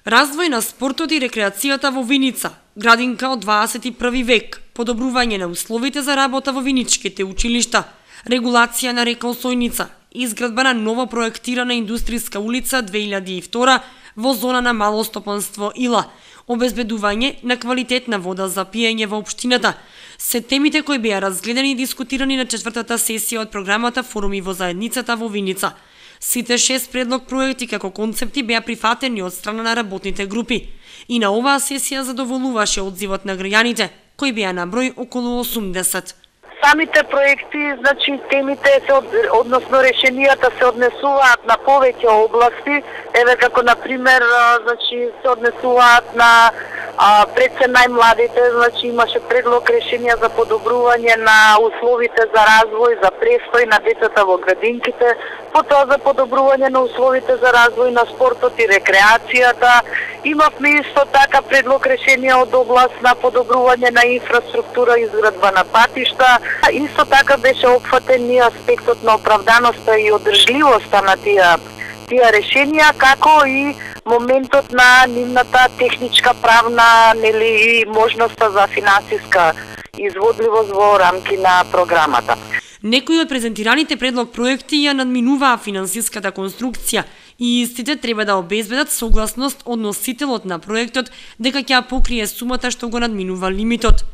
Развој на спортот и рекреацијата во Виница, градинка од 21 век, подобрување на условите за работа во виничките училишта, регулација на река Осојница, изградба на ново проектирана индустријска улица 2002 во зона на малостопанство Ила, обезбедување на квалитетна вода за пиење во општината, се темите кои беа разгледани и дискутирани на 4-та сесија од програмата Форуми во заедницата во Виница. Сите 6 предлог проекти како концепти беа прифатени од страна на работните групи. И на оваа сесија задоволуваше одзивот на граѓаните, кои беа на број околу 80. Самите проекти, темите односно решенијата се однесуваат на повеќе области, еве како на пример, се однесуваат на пред се најмладите, имаше предлог решенија за подобрување на условите за развој, за престој на децата во градинките, потоа за подобрување на условите за развој на спортот и рекреацијата. Имавме исто така предлог решенија од област на подобрување на инфраструктура, изградба на патишта. Исто така беше опфатен и аспектот на оправданоста и одржливоста на тие решенија, како и моментот на нивната техничка, правна и можноста за финансиска изводливост во рамки на програмата. Некои од презентираните предлог проекти ја надминуваа финансиската конструкција и истите треба да обезбедат согласност од носителот на проектот дека ќе ја покрие сумата што го надминува лимитот.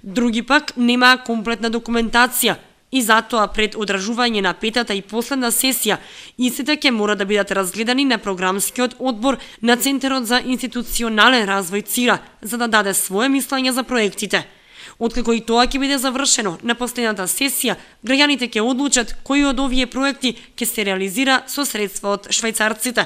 Други пак немаа комплетна документација и затоа пред одржување на 5-та и последна сесија истите ќе мора да бидат разгледани на програмскиот одбор на Центарот за институционален развој ЦИРА за да даде свое мислење за проектите. Откако и тоа ќе биде завршено на последната сесија, граѓаните ќе одлучат кои од овие проекти ќе се реализира со средства од швајцарците.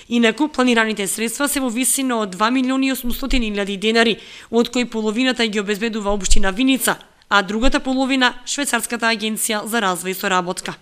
Инаку, планираните средства се во висина од 2.800.000 денари, од кои половината ги обезбедува општина Виница, а другата половина Швајцарската агенција за развој и соработка.